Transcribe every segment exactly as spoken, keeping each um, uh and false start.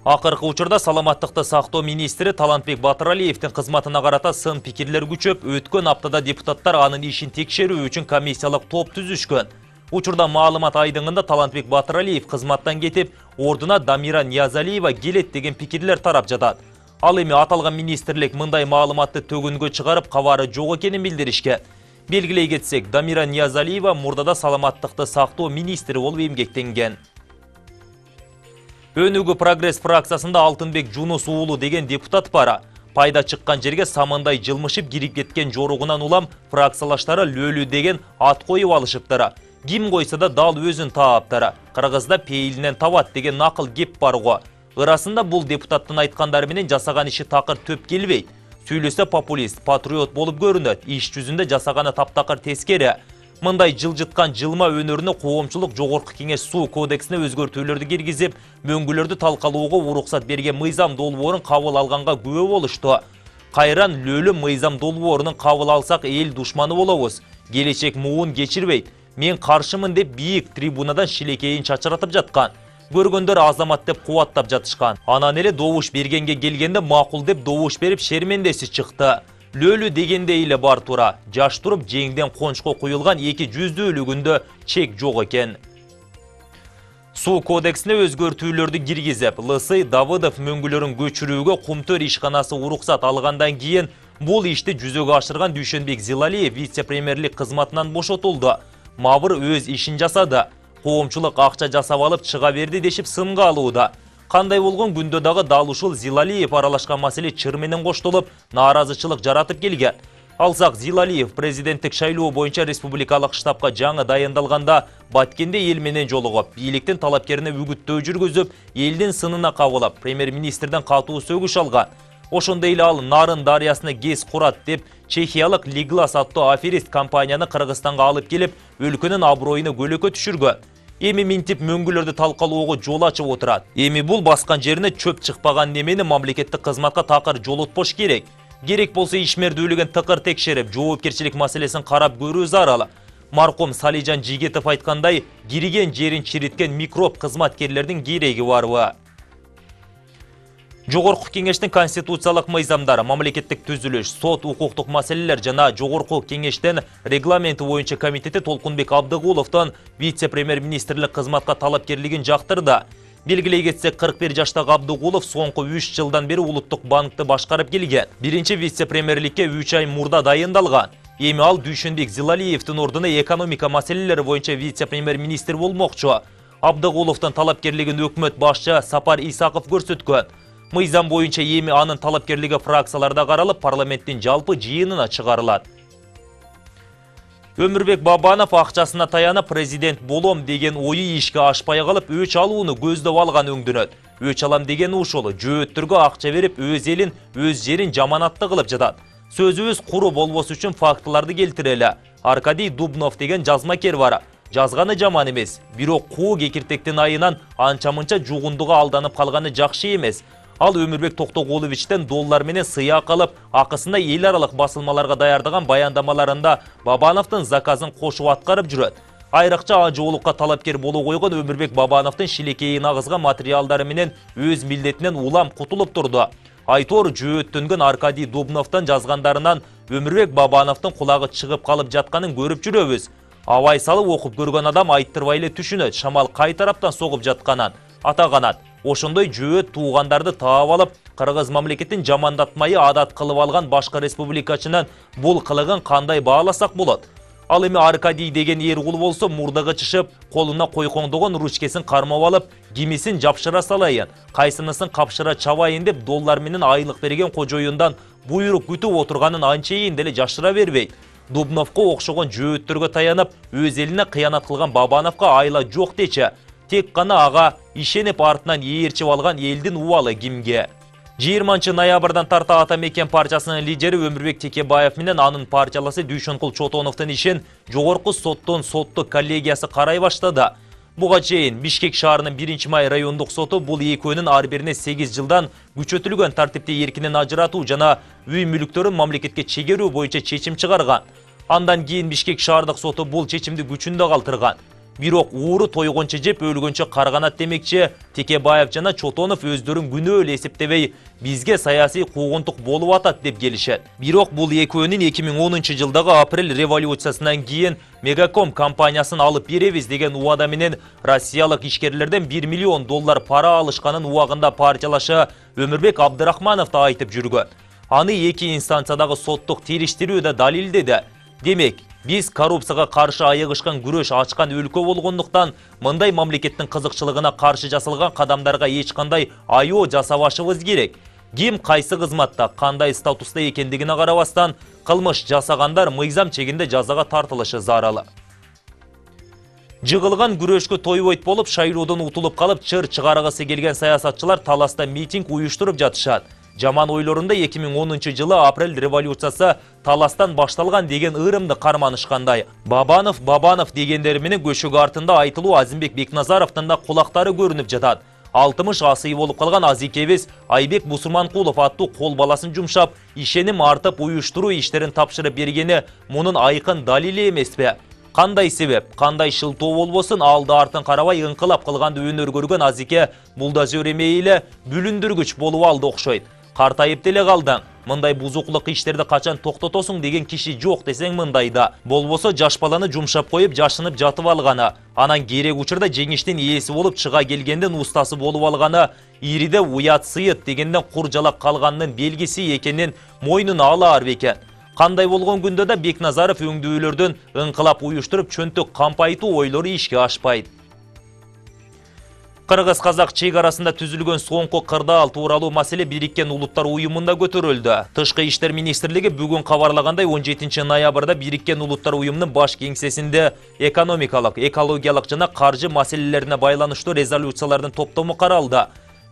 Акыркы учурда саламаттыкты сактоо министри Талантбек Батыралиевдин кызматына карата сын пикирлер күчөп, өткөн аптада депутаттар анын ишин текшерүү үчүн комиссиялык топ түзүшкөн. Учурда маалымат айдыңында Талантбек Батыралиев кызматтан кетип, ордуна Дамира Ниязалиева келет деген пикирлер тарап жатат. Ал эми аталган министрлик мындай маалыматты төгүнгө чыгарып, кабары жок экенин билдиришкен. Белгилей кетсек, Дамира Ниязалиева мурдада саламаттыкты сактоо министри болуп эмгектенген. Өнүгүү прогресс фракциясында Алтынбек Жунус уулу деген депутат бара. Пайда чыккан жерге самандай жылмышып кирип кеткен жоругунан улам фракциялаштары Лөлү деген ат коюп алышыптыр. Ким койса да дал өзүн тааптыр. Кыргызда пейилинен табат деген накыл кеп бар го. Ырасында бул депутаттын айткандары менен жасаган иши такыр төп келбейт. Сүйлөсө популист, патриот болуп көрүнөт. Иш жүзүндө жасаганы таптакыр тескери. Мындай жылжыткан жылма өнөрүнө коомчулук Жогорку кеңеш суу кодексине өзгөртүүлөрдү киргизип, мөңгүлөрдү талкалоого уруксат берген мыйзам долбоорун кабыл алганга күбө болушту. Кайран Лөлү мыйзам долбоорунун кабыл алсак эл душманы болобуз. Келечек муун кечирбейт. Мен каршымын деп бийик трибунадан шилекейин чачыратып жаткан. Көргөндөр азамат деп кубаттап жатышкан. Анан эле добуш бергенге келгенде макул деп добуш берип шермендеси чыкты. Лөлү дегенде эле бар тура. Жаш туруп жеңден кончко куюлган эки жүздүүлүгүндө чек жок экен. Суу кодексине өзгөртүүлөрдү киргизип, Лысый Давыдов мөңгүлөрүн көчүрүүгө Кумтөр ишканасы уруксат алгандан кийин бул ишти жүзөгө ашырган Дүйшөнбек Зилалиев вице-премьерлик кызматынан бошотулду. Мабыр өз ишин жасады. Коомчулук акча жасап алып чыга берди дешип сынга алууда. Кандай болгон күндө дагы дал ушул Зилалиев аралашкан маселе чыр менен коштолуп, нааразычылык жаратып келген. Алсак Зилалиев президенттик шайлоо боюнча республикалык штабка жаңы дайындалганда Баткенде эл менен жолугуп, бийликтин талапкерине үгүттөө жүргүзүп, элдин сынына кабылып, премьер-министрден катуу сөгүш алган. Ошондой эле ал Нарын дарыясына гез курат деп, чехиялык Лиглас аттуу аферист компанияны Кыргызстанга алып келип, өлкөнүн аброюну көлөкө түшүргөн. Эми минтип мөңгүлөрдү талкалоого жол ачып отурат. Эми бул баскан жерине чөп чыкпаган немени мамлекеттик кызматка такыр жолотпош керек. Керек болсо ишмердүүлүгүн тыкыр текшерип, жоопкерчилик маселесин карап көрүү зарыл. Маркум Салижан Жигетов айткандай, кириген жерин чириткен микроб кызматкерлердин кереги барбы? Жогорку кеңештин конституциялык мыйзамдары, мамлекеттик түзүлүш, сот, укуктук маселелер жана Жогорку кеңештин регламенти боюнча комитети Толкунбек Абдыгуловдон вице-премьер-министрлик кызматка талапкерлигин жактырды. Белгилей кетсек, кырк бир жаштагы Абдыгулов соңку үч жылдан бери Улуттук банкты башкарып келген. Биринчи вице-премьерликке үч ай мурда дайындалган. Эми ал Дүйшөнбек Зилалиевдин ордуна экономика маселелери боюнча вице-премьер-министр болмокчу. Абдыгуловдун талапкерлигин өкмөт башчы Сапар Исаков көрсөткөн. Мыйзам боюнча эми анын талапкерлиги фракцияларда каралып, парламенттин жалпы жыйынына чыгарылат. Өмүрбек Бабанов акчасына таянып президент болом деген ою ишке ашпай калып, өч алууну көздөп алган өңдөнөт. Өч алам деген ушул, жөөттөргө акча берип, өз элин, өз жерин жаманатты кылып жатат. Сөзүбүз куру болбос үчүн фактыларды келтирели. Аркадий Дубнов деген жазмакер бар. Жазганы жаман эмес, бирок куу кекиртектин айынан анча-мынча жугундуга алданып калганы жакшы эмес. Ал Өмүрбек Токтогуловичтен доллар менен сыяк алып, акысында эл аралык басылмаларга даярдаган баяндамаларында Бабановдун заказын кошуп аткарып жүрөт. Айрыкча ажоолукка талапкер боло койгон Өмүрбек Бабановдун шилекейин агызган материалдары менен өз милдетинен улам кутулуп турду. Айтор жөөттөнгөн Аркадий Дубновдон жазгандарынан Өмүрбек Бабановдун кулагы чыгып калып жатканын көрүп жүрөбүз. Абай салып окуп көргөн адам айттырбай эле түшүнөт, шамал кай тараптан согуп жатканын. Атаганат. Ошондой жөөт туугандарды таап алып, Кыргыз мамлекетин жамандатмайы адат кылып алган башка республикачынан бул кылыгын кандай бааласак болот? Ал эми Аркадий деген эркул болсо мурдагы чышып, колуна койкоңдогон ручкесин кармап алып, кимисин жапшыра салайын, кайсынысын капшыра чабайын деп доллар менен айлык берген кожоюндан буйрук күтүп отурганын анчейин деле жашыра бербейт. Дубновго окшогон жөөттөргө таянып, өз элине кыянат кылган Бабановго айла жок дечи. Тек гана ага ишенип артынан ээрчип алган элдин убалы кимге? жыйырманчы ноябрдан тарта Ата Мекен партиясынын лидери Өмүрбек Текебаев менен анын партияласы Дүйшөнкул Чотоновдун ишин жогорку соттун соттук коллегиясы карай баштады. Буга чейин Бишкек шаарынын биринчи май райондук соту бул экөөнүн ар бирине сегиз жылдан күчөтүлгөн тартипте эркинен ажыратуу жана үй мүлүктөрүн мамлекетке чегерүү боюнча чечим чыгарган. Андан кийин Бишкек шаардык соту бул чечимди күчүндө калтырган. Бирок ууру тойгончо жеп өлгөнчө карганат демекчи Текебаев жана Чотонов өздөрүн күнөө эле эсептебей, бизге саясий куугунтук болуп атат деп келишет. Бирок бул экөөнүн эки миң онунчу жылдагы апрель революциясынан кийин Мегаком компаниясын алып беребиз деген убада менен россиялык ишкерлерден бир миллион доллар пара алышканын убагында партиялашы Өмүрбек Абдырахмановду айтып жүргөн. Аны эки инстанциядагы соттук териштирүү да далилдеди. Демек, биз коррупцияга каршы айыгышкан күрөш ачкан өлкө болгондуктан мындай мамлекеттин кызыкчылыгына каршы жасалган кадамдарга эч кандай айоо жасабашыбыз керек. Ким кайсы кызматта, кандай статуста экендигине карабастан, кылмыш жасагандар мыйзам чегинде жазага тартылышы зарыл. Жыгылган күрөшкө тойбойт болуп, шайлоодон утулуп калып, чыр чыгаргысы келген саясатчылар Таласта митинг уюштуруп жатышат. Жаман ойлорунда эки миң онунчу жылы апрель революциясы Таластан башталган деген ырымды карманышкандай. Бабанов, Бабанов дегендер менен көшөгө артында айтылуу Азимбек Бекназаровдун да кулактары көрүнүп жатат. алтымыш асый болуп калган азикебиз Айбек Бусурманкулов аттуу кол баласын жумшап, ишеним артып уюштуруу иштерин тапшырып бергени мунун айкын далили эмеспи? Кандай себеп, кандай шылтоо болбосун, алды артын карабай ыңкылап кылганды өнөр көргөн азике булдозер эмей эле бүлүндүргүч болуп алды окшойт. Картайып деле калдың. Мындай бузуклук иштерди качан токтотосуң деген киши жок десең мындайда. Болбосо жаш баланы жумшап коюп жашынып жатып алганы, анан керек учурда жеңиштин ээси болуп чыга келгенден устасы болуп алганы, ириде уят сыйыт дегенден кур жалак калганынын белгиси экенин мойнуна алаар бекен. Кандай болгон күндө да Бекназаров өңдүүлөрдөн ыңкылап уюштуруп чөнтөк кампайтуу ойлору ишке ашпайт. Кыргыз-казак чек арасында түзүлгөн соңку кырдаал тууралуу маселе Бириккен Улуттар уюмунда көтөрүлдү. Тышкы иштер министрлиги бүгүн кабарлагандай он жетинчи ноябрда Бириккен Улуттар уюмунун баш кеңсесинде экономикалык, экологиялык жана каржы маселелерине байланыштуу резолюциялардын топтому каралды.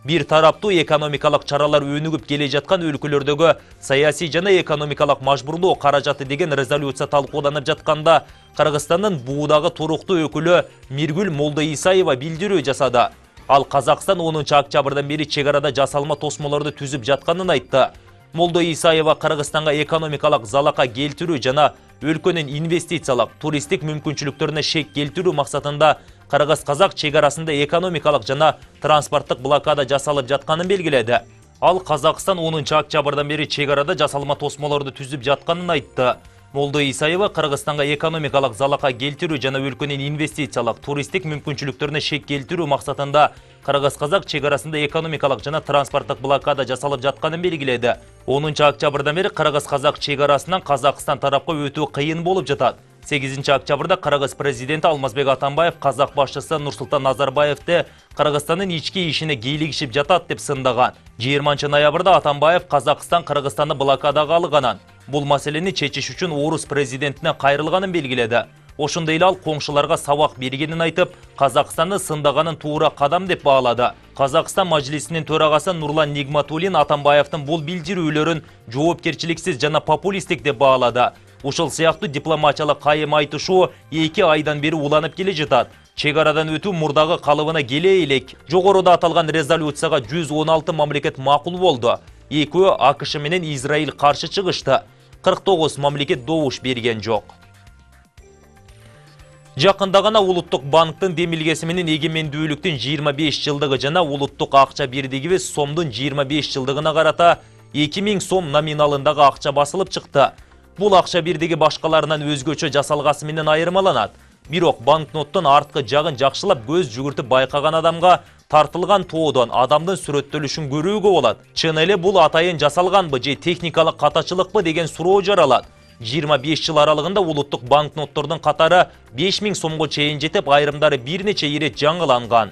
Бир тараптуу экономикалык чаралар өнүгүп келе жаткан өлкөлөрдөгү саясий жана экономикалык мажбурлоо каражаты деген резолюция талкууланып жатканда, Кыргызстандын буудагы туруктуу өкүлү Миргүл Молдоисаева билдирүү жасады. Ал Казакстан онунчу октябрдан бери чек арада жасалма тосмолорду түзүп жатканын айтты. Молдоисаева Кыргызстанга экономикалык залака келтирүү жана өлкөнүн инвестициялык, туристтик мүмкүнчүлүктөрүнө шек келтирүү максатында Кыргыз-казак чек арасында экономикалык жана транспорттук блокада жасалып жатканын белгиледи. Ал Казакстан онунчу октябрдан бери чек арада жасалма тосмолорду түзүп жатканын айтты. Молдоисаева Кыргызстанга экономикалык залака келтирүү жана өлкөнүн инвестициялык, туристтик мүмкүнчүлүктөрүнө шек келтирүү максатында Кыргыз-казак чек арасында экономикалык жана транспорттук блокада жасалып жатканын белгиледи. онунчу октябрдан бери Кыргыз-казак чек арасынан Казакстан тарапка өтүү кыйын болуп жатат. сегизинчи октябрда Кыргыз президенти Алмазбек Атамбаев казак башчысы Нурсултан Назарбаевди Кыргызстандын ички ишине кийлигишип жатат деп сындаган. жыйырманчы ноябрда Атамбаев Казакстан Кыргызстанды блокадага алганын, бул маселени чечиш үчүн орус президентине кайрылганын белгиледи. Ошондой эле ал коңшуларга сабак бергенин айтып, Казакстанды сындаганын туура кадам деп баалады. Казакстан мажлисинин төрагасы Нурлан Нигматуллин Атамбаевдин бул билдирүүлөрүн жоопкерчиликсиз жана популисттик деп баалады. Ушул сыяктуу дипломатиялык кайым айтышуу эки айдан бери уланып келе жатат. Чек арадан өтүү мурдагы калыбына келе элек. Жогоруда аталган резолюцияга жүз он алты мамлекет макул болду. Экөө АКШ менен Израиль каршы чыгышты. кырк тогуз мамлекет добуш берген жок. Жакында гана Улуттук банктын демилгеси менен эгемендүүлүктүн жыйырма беш жылдыгы жана улуттук акча бирдигибиз сомдун жыйырма беш жылдыгына карата эки миң сом номиналындагы акча басылып чыкты. Бул акча бирдиги башкаларынан өзгөчө жасалгасы менен айырмаланат. Бирок банкноттун арткы жагын жакшылап көз жүгүртүп байкаган адамга тартылган тоодон адамдын сүрөттөлүшүн көрүүгө болот. Чын эле бул атайын жасалганбы же техникалык катачылыкпы деген суроо жаралат. жыйырма беш жыл аралыгында улуттук банкноттордун катары беш миң сомго чейин жетип, айрымдары бир нече ирет жаңыланган.